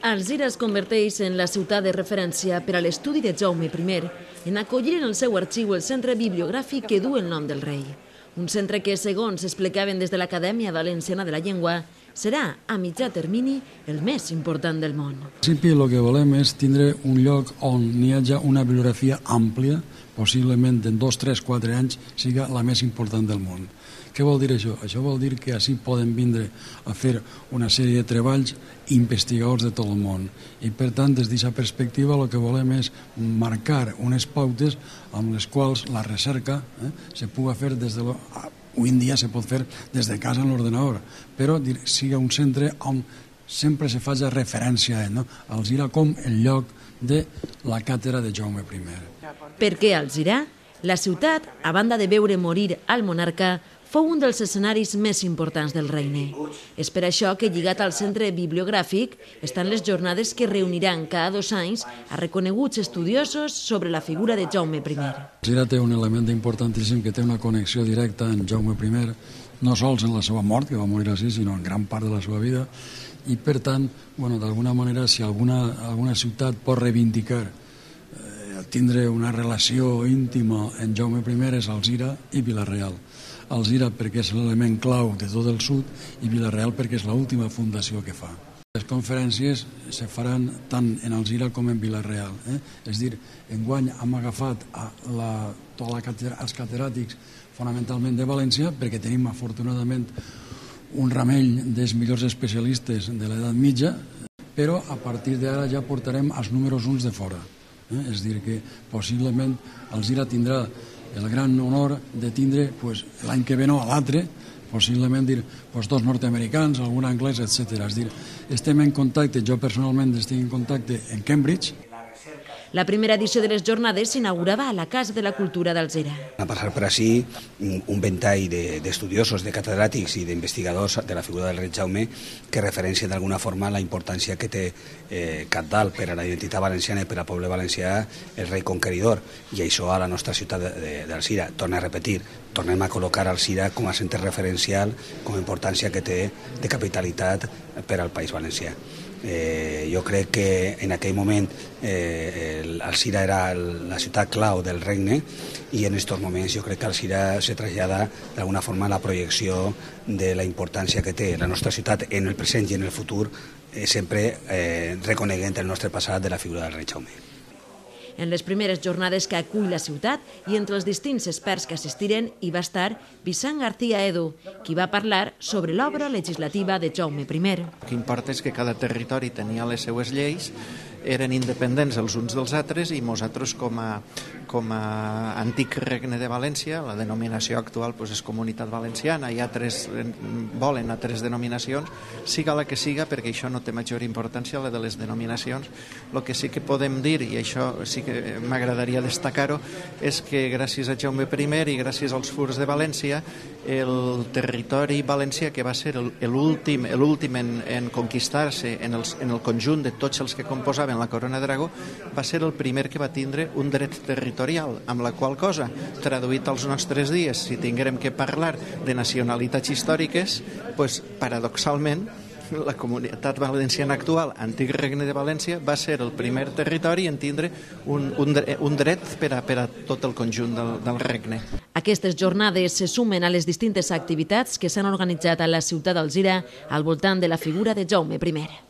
Alzira es converteix en la ciutat de referència per a l'estudi de Jaume I en acollir en el seu arxiu el centre bibliogràfic que du el nom del rei. Un centre que, segons explicaven des de l'Acadèmia Valenciana de la Llengua, serà, a mitjà termini, el més important del món. En principi, el que volem és tindre un lloc on hi hagi una bibliografia àmplia, possiblement en 2, 3, 4 anys siga la més important del món. Què vol dir això? Això vol dir que així poden vindre a fer una sèrie de treballs investigadors de tot el món. I, per tant, des d'aquesta perspectiva, el que volem és marcar unes pautes amb les quals la recerca se pugui fer des de... Avui en dia se pot fer des de casa en l'ordenador, però siga un centre on sempre se faci referència a ell, Alzira com el lloc de la càtedra de Jaume I. Per què Alzira? La ciutat, a banda de veure morir al monarca, fou un dels escenaris més importants del regne. És per això que, lligat al centre bibliogràfic, estan les jornades que reuniran cada 2 anys a reconeguts estudiosos sobre la figura de Jaume I. Alzira té un element importantíssim que té una connexió directa amb Jaume I, no sols en la seva mort, que va morir així, sinó en gran part de la seva vida, i per tant, d'alguna manera, si alguna ciutat pot reivindicar tindre una relació íntima amb Jaume I és Alzira i Vila-real. Alzira perquè és l'element clau de tot el sud i Vila-real perquè és l'última fundació que fa. Les conferències se faran tant en Alzira com en Vila-real. És a dir, enguany hem agafat els catedràtics fonamentalment de València perquè tenim afortunadament un ramell dels millors especialistes de l'edat mitja, però a partir d'ara ja portarem els números 1 de fora. És a dir, que possiblement Alzira tindrà el gran honor de tindre l'any que ve no, a l'altre, possiblement 2 nord-americans, algun anglès, etc. És a dir, estem en contacte, jo personalment estic en contacte en Cambridge. La primera edició de les jornades s'inaugurava a la Casa de la Cultura d'Alzira. Va passar per així un ventall d'estudiosos, de catedràtics i d'investigadors de la figura del rei Jaume que referencien d'alguna forma la importància que té cabdal per a la identitat valenciana i per al poble valencià el rei conqueridor, i això a la nostra ciutat d'Alzira. Torno a repetir, tornem a col·locar Alzira com a centre referencial, com a importància que té de capitalitat per al País Valencià. Jo crec que en aquell moment Alzira era la ciutat clau del regne i en aquests moments jo crec que Alzira se trasllada d'alguna forma a la projecció de la importància que té la nostra ciutat en el present i en el futur, sempre reconeguent el nostre passat de la figura del rei Jaume. En les primeres jornades que acull la ciutat i entre els distints experts que assistiren hi va estar Vicent García Edo, qui va parlar sobre l'obra legislativa de Jaume I. El que importa és que cada territori tenia les seues lleis, eren independents els uns dels altres i nosaltres com a antic regne de València, la denominació actual és Comunitat Valenciana, i altres volen altres denominacions, siga la que siga, perquè això no té major importància, la de les denominacions. El que sí que podem dir, i això sí que m'agradaria destacar-ho, és que gràcies a Jaume I i gràcies als furs de València, el territori valencià, que va ser l'últim en conquistar-se en el conjunt de tots els que composaven la Corona d'Aragó, va ser el primer que va tindre un dret territorial, amb la qual cosa, traduït als nostres dies, si tinguérem que parlar de nacionalitats històriques, paradoxalment, la Comunitat Valenciana actual, antic Regne de València, va ser el primer territori en tindre un dret per a tot el conjunt del regne. Aquestes jornades se sumen a les distintes activitats que s'han organitzat a la ciutat d'Alzira al voltant de la figura de Jaume I.